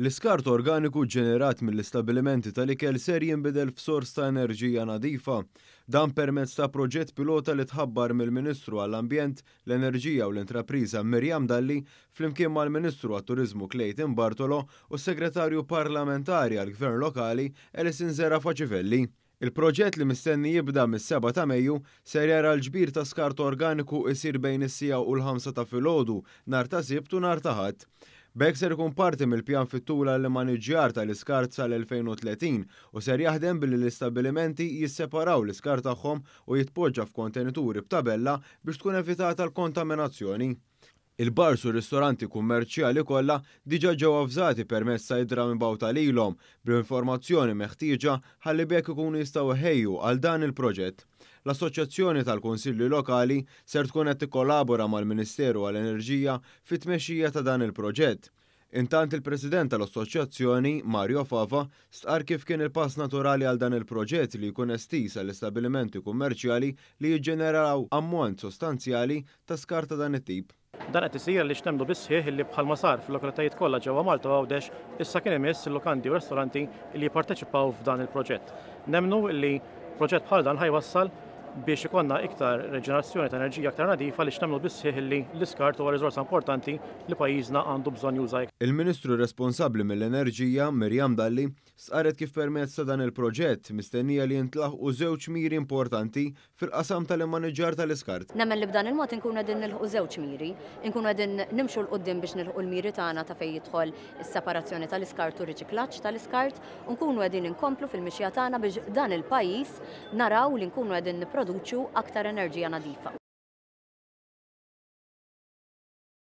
L-iskart organiku ġenerat mill-istabbilimenti tal-ikel ser jinbidel f'sors ta' enerġija nadifa. Dan permezz ta' proġett pilota li tħabbar mill-Ministru għall-Ambjent, l-Enerġija u l-Intrapriża Miriam Dalli flimkien mal-Ministru għat-Turiżmu Clayton Bartolo u s-Segretarju Parlamentari għall-Gvern Lokali Alison Zerafa Civelli. Il-proġett li mistenni jibda mis-7 ta' Mejju ser jara l-ġbir ta' skart organiku isir bejn is-siegħa u l-5 ta' filgħodu nhar ta' Sibt u nhar ta' Ħadd. B'hekk ser ikun parti mill-pjan fit-tul għall-immaniġġjar tal-iskart sal-2030 u ser jaħdem billi l-istabbilimenti jisseparaw l-iskart tagħhom u jitpoġġa f'kontenituri b'tabella biex tkun evitata l-kontaminazzjoni. Il-bars u r-ristoranti kummerċjali kollha diġà ġew avżati permezz ta' ittra mibgħuta lilhom bl-informazzjoni meħtieġa ħalli b'hekk ikunu jistgħu iħejju għal dan il-proġett. L-Assoċjazzjoni tal-Kunsilli Lokali ser tkun qed tikkollabora mal-Ministeru għall-Enerġija fit-tmexxija ta' dan il-proġett. Intant il-President tal-Assoċjazzjoni, Mario Fava, stqarr kif kien il-pass naturali għal dan il-proġett li jkun estiż għall-istabbilimenti kummerċjali li jiġġeneraw ammont sostanzjali ta' skart ta' dan it-tip. Dan qed isir għaliex nemmnu bis-sħiħ illi bħalma sar fil-lokalitajiet kollha ġewwa Malta u Għawdex, issa kien imiss il-lukandi u restoranti illi jipparteċipaw f'dan il-proġett. Nemmnu illi proġett bħal dan ħa jwassal biex ikollna iktar reġenerazzjoni ta' enerġija aktar nadifa għaliex nemmnu bis-sħiħ illi l-iskart huwa riżorsa importanti li pajjiżna għandu bżonn juża iktar. Il-Ministru responsabbli mill-Enerġija, Miriam Dalli, stqarret kif permezz ta' dan il-proġett mistennija li jintlaħqu żewġ miri importanti fil-qasam tal-immaniġġar tal-iskart. Nemmen li b'dan il-mod inkunu qegħdin nilħqu żewġ miri. Inkunu qegħdin nimxu 'l quddiem biex nilħqu l-miri tagħna ta' fejn jidħol is-separazzjoni tal-iskart u riċiklaġġ tal-iskart u nkunu qegħdin inkomplu fil-mixja tagħna biex dan il-pajjiż naraw li nkunu qegħdin nipproduċu aktar enerġija nadifa.